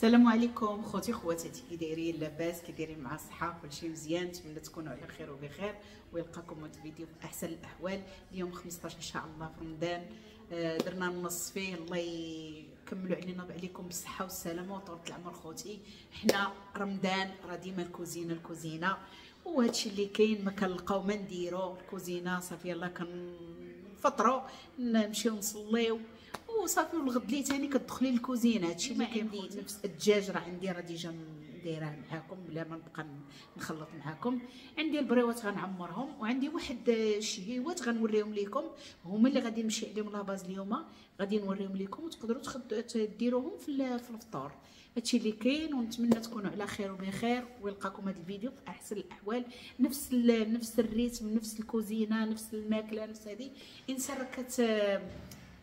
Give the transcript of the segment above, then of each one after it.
السلام عليكم خوتي خواتاتي، كي دايرين؟ لاباس؟ كي دايرين مع الصحة؟ كلشي مزيان؟ نتمنى تكونوا على خير وبخير ويلقاكم هذا الفيديو في احسن الاحوال. اليوم 15 ان شاء الله في رمضان، درنا النص فيه، الله يكملوا علينا وعليكم بالصحة والسلامة وطولة العمر. خوتي حنا رمضان راه ديما الكوزينة الكوزينة، وهادشي اللي كاين ما كنلقاو ما نديرو، الكوزينة صافي يلاه كنفطروا نمشيو نصليو وصافي، والغد لي ثاني كتدخلي للكوزينه. هادشي اللي كاين. نفس الدجاج راه عندي، راه déjà دايراه معاكم بلا ما نبقى نخلط معاكم. عندي البريوات غنعمرهم، وعندي واحد الشهيوات غنوريهم لكم، هما اللي غادي نمشي عليهم la base اليوم، غادي نوريهم لكم وتقدروا ديروهم في الفطور. هادشي اللي كاين، ونتمنى تكونوا على خير وبخير ويلقاكم هذا الفيديو في احسن الاحوال. نفس ال rythme، نفس الكوزينة، نفس الماكلة، نفس هذه. انسان راه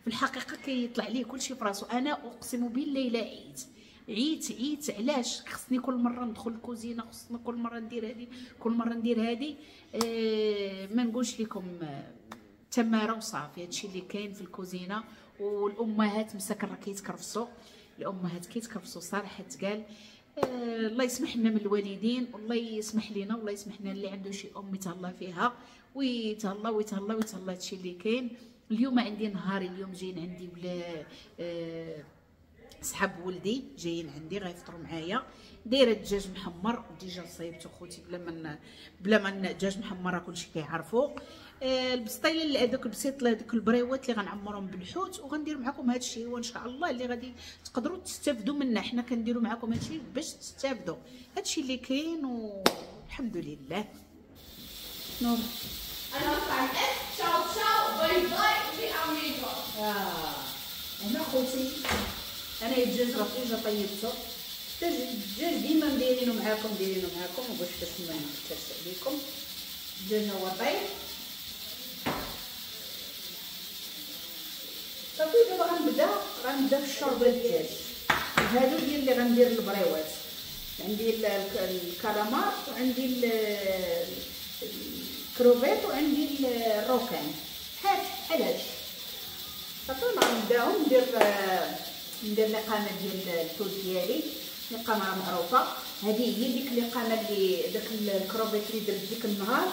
في الحقيقة كيطلع ليه كلشي في راسو. انا اقسم بالله الا عيت عيت عيت. علاش خصني كل مرة ندخل الكوزينة، خصني كل مرة ندير هذه، كل مرة ندير هذه؟ ما نقولش لكم تماره وصافي. هادشي اللي كاين في الكوزينة. والامهات مساكن راه كيتكرفصوا، الامهات كيتكرفصوا صراحة تقال. الله يسمح لنا من الوالدين، والله يسمح لنا، والله يسمح لنا اللي عنده شي ام يتهلا فيها ويتهلا ويتهلا ويتهلا. هادشي اللي كاين. اليوم عندي نهاري، اليوم جايين عندي ولا صحاب ولدي جايين عندي غيفطروا معايا. دايرة الدجاج محمر déjà صايبته خوتي بلا ما الدجاج محمر راه كلشي كيعرفو. البسطيله هذوك البسيط هذوك البريوات اللي غنعمرهم بالحوت، وغندير معكم هذا الشيء وان شاء الله اللي غادي تقدروا تستافدوا منه. حنا كنديروا معكم هذا الشيء باش تستافدوا. هذا الشيء اللي كاين والحمد لله. نور انا ciao ciao bye bye les amigos. هنا خوتي انا الدجاج راه déjà طيبته. الدجاج ديما مديرينو معاكم دايرينو معاكم باش ما نكثرش عليكم. الدجاج هو طيب صافي. دابا غنبدا في الشوربة الدجاج. هادو ديال اللي غندير البريوات، عندي الكالامار وعندي الكروفيت وعندي ال requin، بحال هادشي صافي. غنبداهم ندير لقامه ديال الحوت ديالي، لقامه معروفة. هذه هي ديك اللقامه اللي داك الكروفيت اللي درت ديك النهار،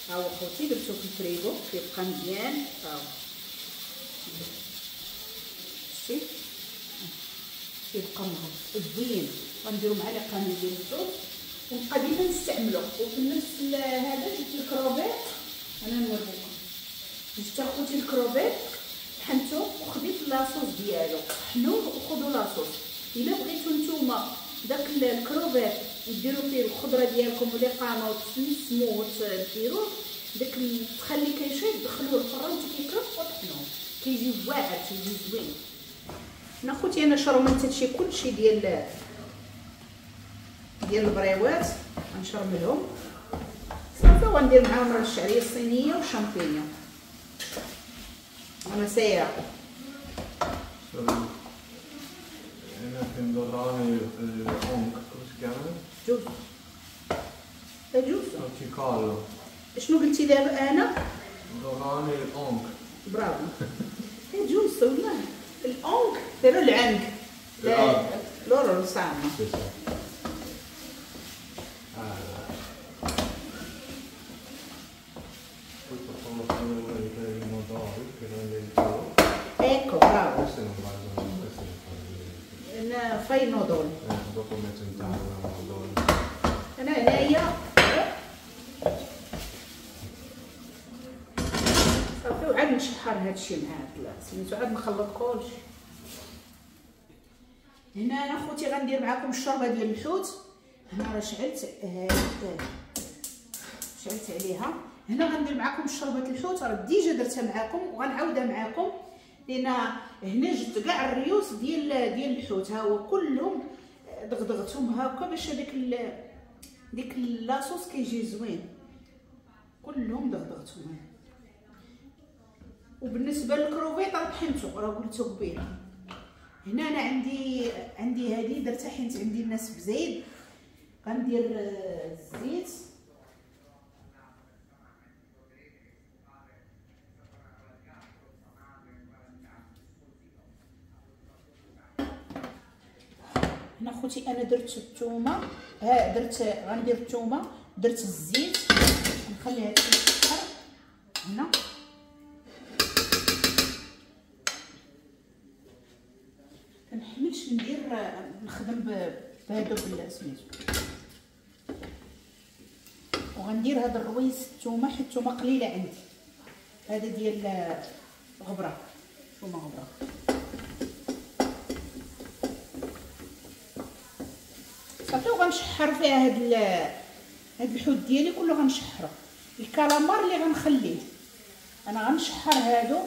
ها هو خوتي درتو في الفريغو كيبقى مزيان. ها هو شتي كيبقى زوين. غنديرو مع لقامه ديال الحوت ونبقى ديما نستعملو. وفي نفس هذا جبت الكروفيت، انا نوريكم. جبت اخوتي الكروفيت طحنتو وخديت la sauce ديالو، طحنوه وخذوا la sauce. الا بغيتو نتوما داك الكروفيت ديروا فيه الخضرة ديالكم ولقامه وتسمسموه وتديروه داك تخلي كيشيط، دخلوه الفران كيكرف وطحنوه، كيجي واعر تيجي زوين. انا خوتي انا شرملت هادشي كلشي ديال البريوات، غنشرملهم صافي وغندير معاهم راه الشعرية الصينية والشامبينيون. انا سايرة giusto giusto. شنو قلتي دابا؟ انا dorani الأونك. bravo giusto والله. الأونك ديروا العنك loro lo sanno. Ecco, bravo. Questo non va, questo non fa. Fai il nodolo. Dopo metto in tavola il nodolo. انا هنايا صافي، وعاد نشحر هادشي مع هاد سميتو، عاد نخلط كلشي. هنا انا خوتي غندير معاكم الشوربة ديال الحوت. هنا راه شعلت شعلت عليها. هنا غندير معاكم شوربة الحوت، راه déjà درتها معاكم وغنعاودها معاكم، لان هنا جبت كاع الريوس ديال الحوت، ها هو كلهم دغدغتهم هكا باش هذيك ديك la sauce كيجي زوين. كلهم دغدغتهم. وبالنسبة للكروفيت راه طحنتو، راه قلتو قبيلة. هنا انا عندي هذه درتها حيت عندي الناس بزايد. غندير الزيت، هنا خوتي انا درت الثومه، ها درت غندير الثومه، درت الزيت، نخليها تتشحر هنا. كنحملش ندير نخدم بهادو سميتو. وغندير هذا الرويس الثومه حيت الثومه قليله عندي، هذا ديال غبرة، ثومه غبرة. صافي وغنشحر فيها هاد الحوت ديالي كله غنشحرو. الكالامار اللي غنخليه انا غنشحر هادو،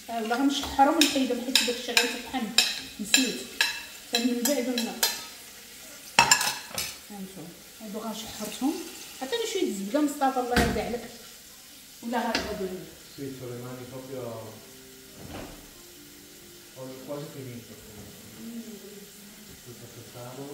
ولا غنشحرهم ونحيدهم حيت داكشي غيتطحن نسيت من بعد. هانتوما هادو غنشحرتهم. عطيني شوية الزبدة مصطفى الله يرضي عليك، ولا غادي Sì, c'ho le mani proprio, ho quasi finito. Tutto affettato.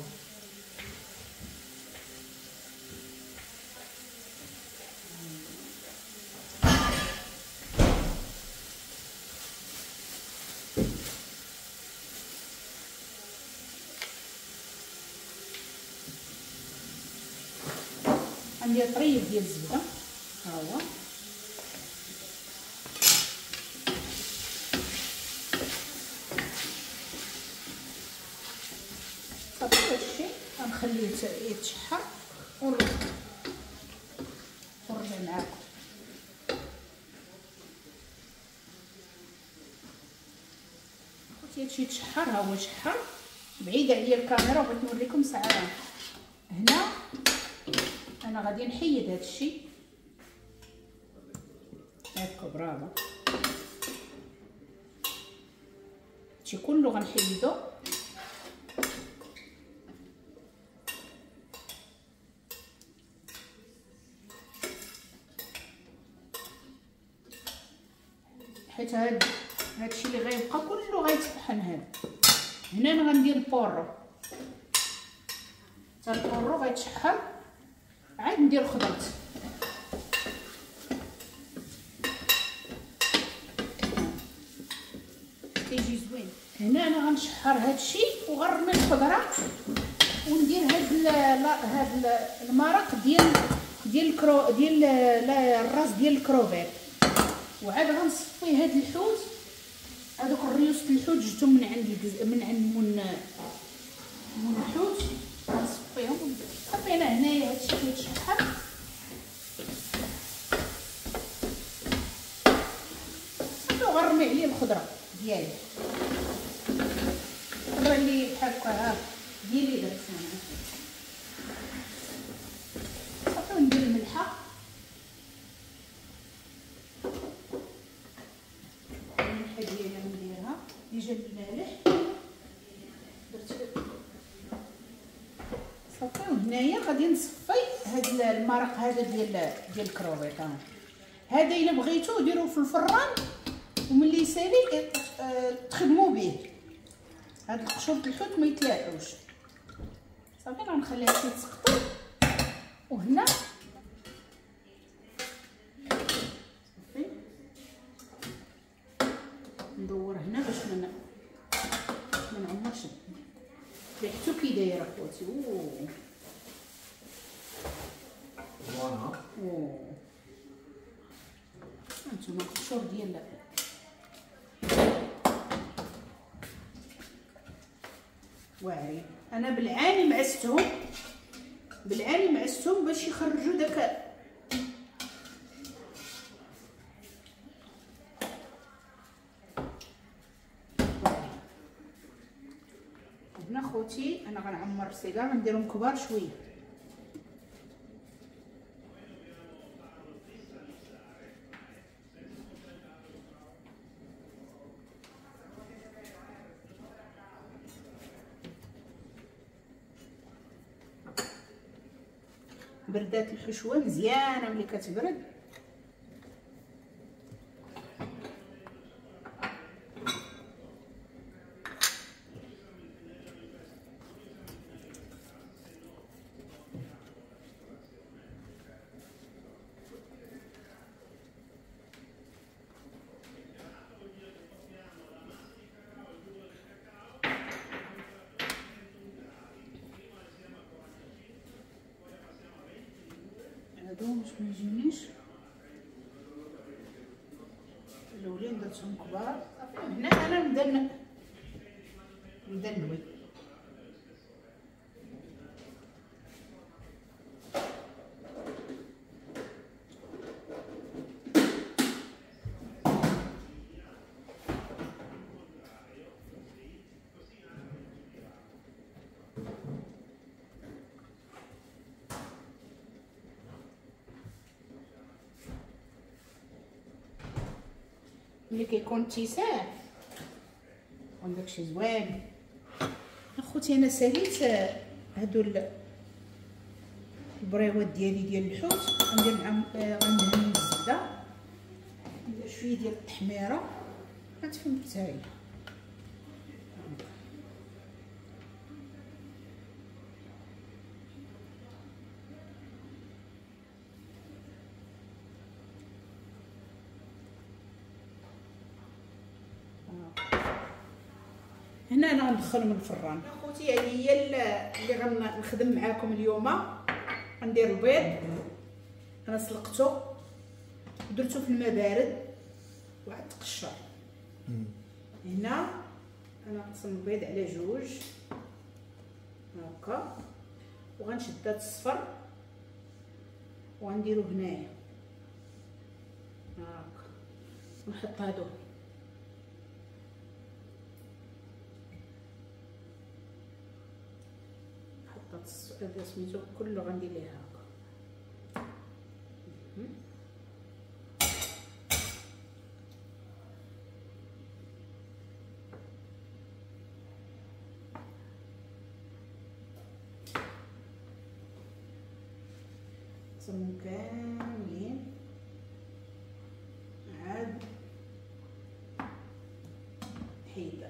عندي طريف ديال الزبدة ها هو. صافي هادشي غنخليه يتشحر ونرجع معاكم. خوتي هادشي يتشحر، ها هو شحر. بعيدة عليا الكاميرا بغيت نوريكم ساعة. هنا انا غادي نحيد هادشي هاكا، برافو. هادشي كله غنحيدو. حيت هادشي اللي غيبقى كله غيتطحن. هذا هنا انا غندير ال porro، حتى ال porro غيتشحر عاد ندير الخضرات. كيجي زوين. هنا انا غنشحر هادشي وغنرمي الخضرة وندير هاد المرق ديال ديال الراس ديال الكروفيت. وعاد غنصفي هاد الحوت، هادوك الريوس الحوت جبتهم من عند من عند من الحوت، غنصفيهم. صافي انا هنايا هادشي كيتشحر. صافي وغنرمي عليه الخضرة ديالي، الخضرة اللي بحال هكا ها ديالي درت انا. صافي وندير الملحة، الملحة ديالي غنديرها déjà المالح درت. صافي وهنايا غادي نصفي هاد المرق هذا ديال الكروفيت. هذا الا بغيتو ديروه في الفران وملي يسالي تخدموا به. هاد القشور الحوت ما يتلاحوش. صافي غنخليها شي تسقطر. وهنا صافي ندور هنا باش ما نعمرش ريحتو كي دايرة خوتي. اوه buona. اوه هانتوما القشور ديال واعرين. انا بالعاني معستهم، بالعاني معستهم باش يخرجوا داك هنا. خوتي انا غنعمر السيجار، غنديرهم كبار شوية. بردات الحشوه مزيانه ملي كتبرد. باش ما يجينيش. الاولين درتهم كبار. هنا انا نبدا نلوي. ملي كيكون اتساع عندك شي زوين. اخوتي انا ساليت هادو البريوات ديالي ديال الحوت. غندير معاهم غندهن الزبدة، ندير شوية ديال التحميره غتفهمت هاي. هنا انا غندخلهم الفران اخوتي. هذه هي اللي غنخدم معاكم اليوم. غندير البيض، انا سلقته ودرته في الماء بارد وعاد تقشر. هنا انا غنقسم البيض على جوج هكا، وغنشد هاد الصفر وغنديرو هنايا هكا، ونحط هادو هذا سميتو كله غندير ليه هكا. نقسمهم كاملين عاد حيده.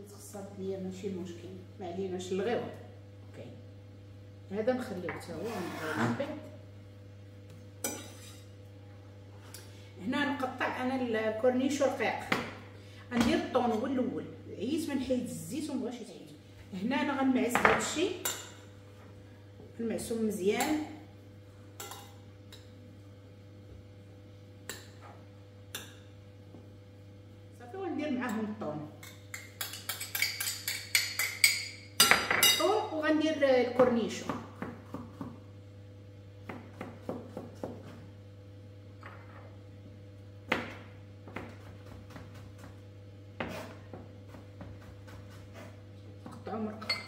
تخسرت ليا ماشي مشكل، ما عليناش نلغيوه. OK هذا نخليوه حتى هو من بعد. هنا نقطع انا ال cornichon رقيق. غندير الطون هو الاول، عييت ما نحيد الزيت ومبغاش يتحيد. هنا انا غنمعس هادشي، نمعسو مزيان. صافي وندير معاهم الطون وغندير ال cornichon. نقطعو مرقات.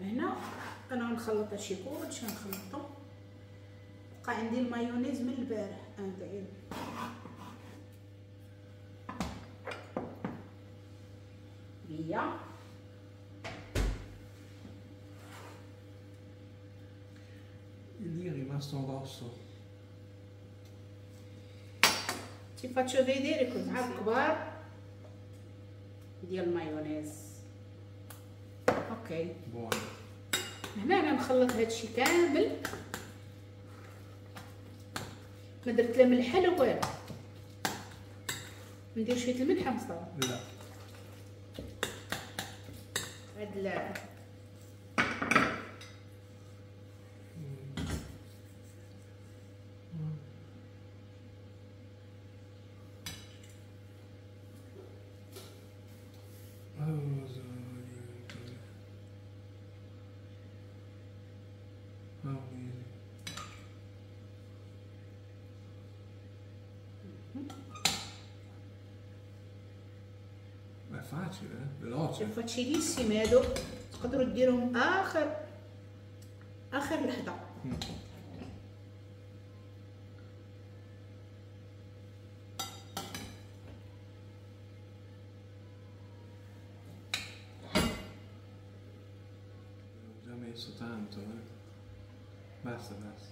هنا انا غنخلط هادشي كلشي، غنخلطو. بقى عندي المايونيز من البارح انا بيا. Il mio è rimasto rosso. Ti faccio vedere così الكبار ديال المايونيز. OK buono. هنا انا نخلط هادشي كامل، ما درت لا ملح لا والو. ندير شوية الملح مصطفى؟ لا. هاد لا È facile, eh? Veloce. Facilissime هادو، تقدروا ديرهم اخر لحظة. Già meglio. Messo tanto, eh. Basta, basta.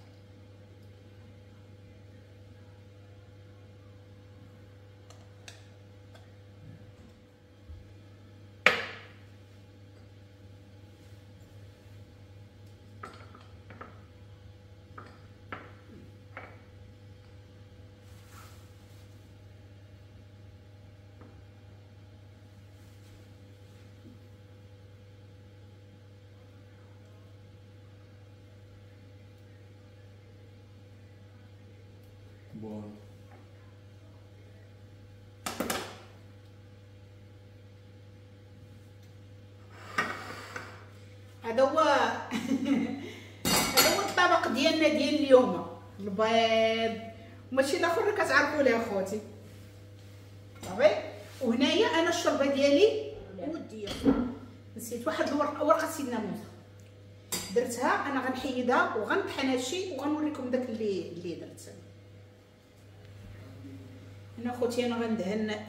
Buono. هذا هو هذا هو الطبق ديالنا ديال اليوم، البيض وماشي الاخر اللي كتعرفوا ليه اخوتي. صافي. وهنايا انا الشوربة ديالي وديه، نسيت واحد الورقة، ورقة سيدنا موسى درتها انا، غنحيدها وغنطحن هادشي وغنوريكم داك اللي درت. هنا خوتي انا غندهن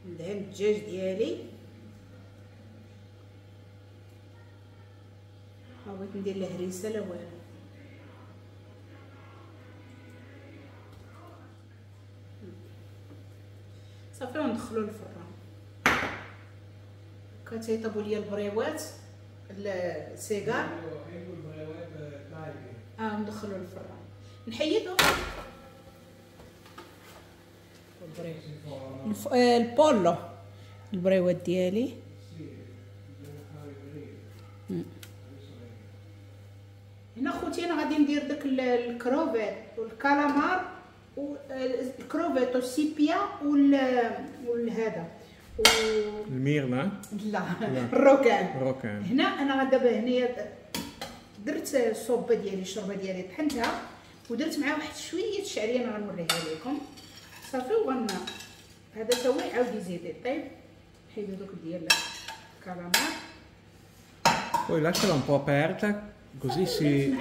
الدجاج ديالي، ما بغيت ندير له هريسه لا والو. صافي وندخلو للفران. كتيطيبوا ليا البريوات السيجار، ندخلو للفران نحيدو ال pollo البريوات ديالي. هنا خوتي انا غادي ندير داك الكروفيت والكالامار والكروفيت وال seppia والهذا ال mirla، لا ال requin. هنا انا دابا هنايا درت الصوبه ديالي، الشوربة ديالي طحنتها ودرت معها واحد شوية الشعرية، انا غنوريها لكم. صافي. وغن هذا تا هو يعاود يزيد يطيب. نحيدو دوك ديال الكالامار. Poi lasciala un po' aperta così si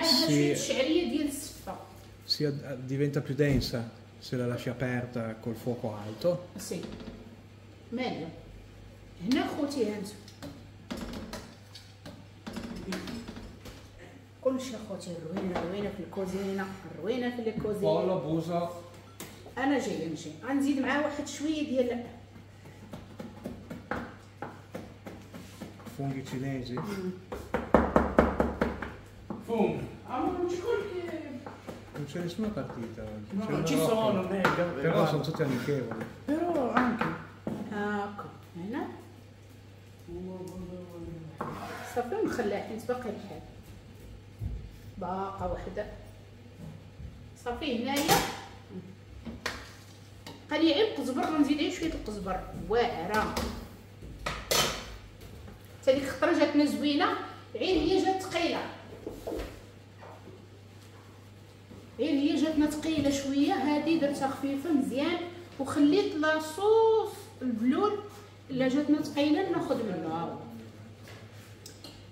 الشعرية ديال السفه si diventa più densa se la lasci aperta col fuoco alto. Sì. Meglio. هنا خوتي هانتو كلشي خوتي، روينه روينه في الكوزينة، روينه في الكوزينة. Pollo buso. انا جاية نجي غنزيد معاه واحد شوية ديال funghi cinesi. Funghi. Ah, ma non ci Non c'è nessuna partita oggi. No, non ci sono, mega. Però sono tutti amichevoli. Però anche. هاكا هنا صافي ونخليها حيت باقي الحال، باقا وحده. صافي هنايا بقى لي غير القزبر، غنزيد غير شوية القزبر واعرة. حتى ديك الخطرة جاتنا زوينة، غير هي جات ثقيلة، غير هي جاتنا ثقيلة شوية. هذه درتها خفيفة مزيان وخليت la sauce البلول الا جاتنا ثقيلة ناخذ منه. ها هو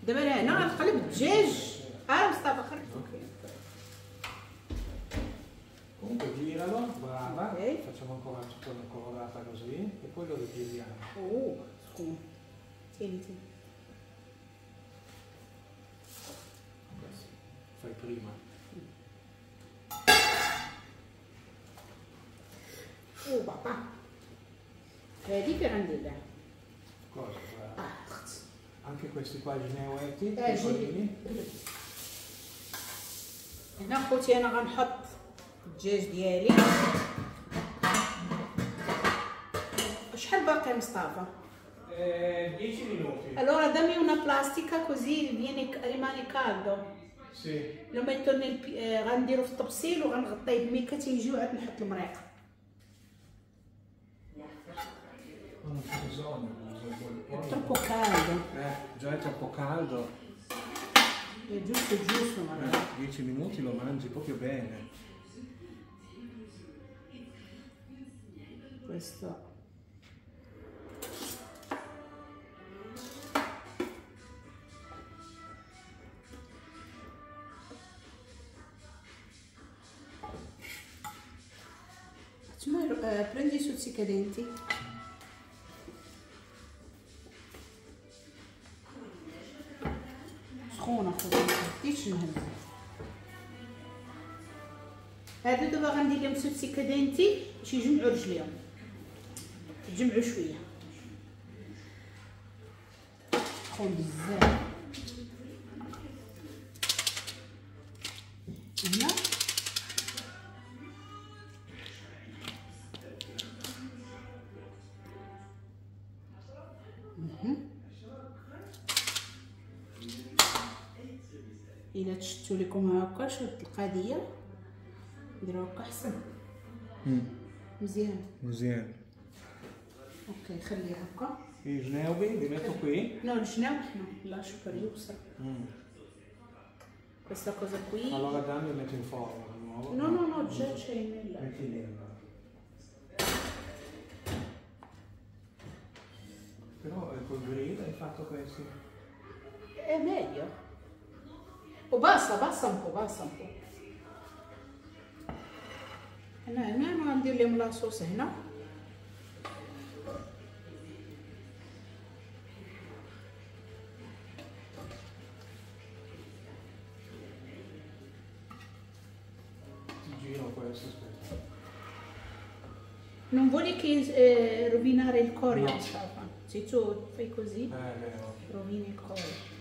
دابا هنا غنقلب الدجاج. مصطفى خرج. Comunque giralo, brava, okay. Facciamo ancora tutta una colorata così e poi lo rigiriamo. Oh, scusa. Tieni, tieni. Fai prima. Oh papà. هذه فين غندير لها؟ Cosa? Anche questi qua gineuetti, piccolini. هنا خوتي انا غنحط الدجاج ديالي. شحال باقي مصطفى؟ 10 minuti. Allora dammi una plastica così viene rimane caldo. Sì. Lo metto nel غنديرو في الطبسيل وغنغطيه بميكا تيجي وعاد نحط المريق. Non c'è bisogno. È troppo caldo. Già è troppo caldo. È giusto, giusto, ma 10 minuti lo mangi proprio bene. Questo. Prendi i stuzzicadenti. سخونة خوتي، ما خديتش نهز. هادو دابا غندير لهم stuzzicadenti باش يجمعوا رجليهم، يتجمعوا شوية. سخون بزاف. هنا الا تشتو لكم هكا شد القضية، نديرو هكا احسن. مزيان مزيان. OK خليها هكا. I gnocchi li metto qui. No, il gnocchi no, lascio per Yusra. Questa cosa qui. Allora dammi metto in forno di nuovo. No, no, no, già c'è nella. Metti lì allora. Però col grill hai fatto questo. È meglio. Oh, basta, basta un po', basta un po'. هنا هنا انا غندير لهم la sauce هنا. Ti giro questo, aspetta. Non vuoi che rovinare il cuoio? No. Se tu fai così, vero. Rovini il cuoio.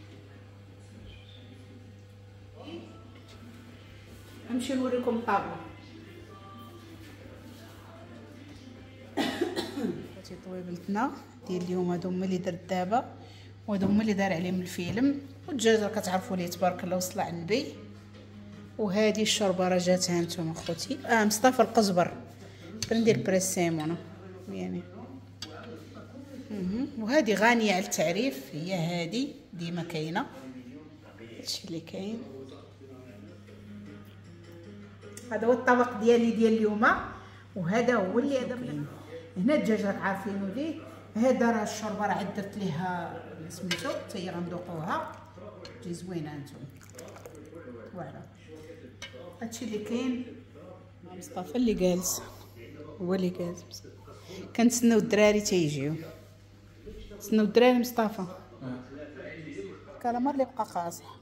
نمشي نوريكم الطابله. هادي طويبلتنا ديال اليوم، هادو هما اللي درت دابا وهادو هما اللي دار عليهم الفيلم. والدجاج راه كتعرفوا ليه تبارك الله وصل على النبي. وهادي الشوربة راه جاتها نتوما خوتي. مصطفى القزبر ندير prezzemolo يعني. وهادي غانيه على التعريف، هي هادي ديما كاينه. هادشي اللي كاين. هذا هو الطبق ديالي ديال اليوم، وهذا هو اللي هذا هنا. الدجاج راك عارفينو ليه. هذا راه الشوربة راه عاد درت ليها سميتو حتى هي غندوقوها، تجي زوينة انتم. voilà هادشي اللي كاين. مصطفى اللي جالس هو اللي جالس. كنتسناو الدراري تيجيو، تسناو الدراري. مصطفى الكلامار اللي بقى قاصح.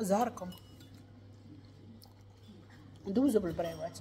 زهركم ندوزو بالبريوات.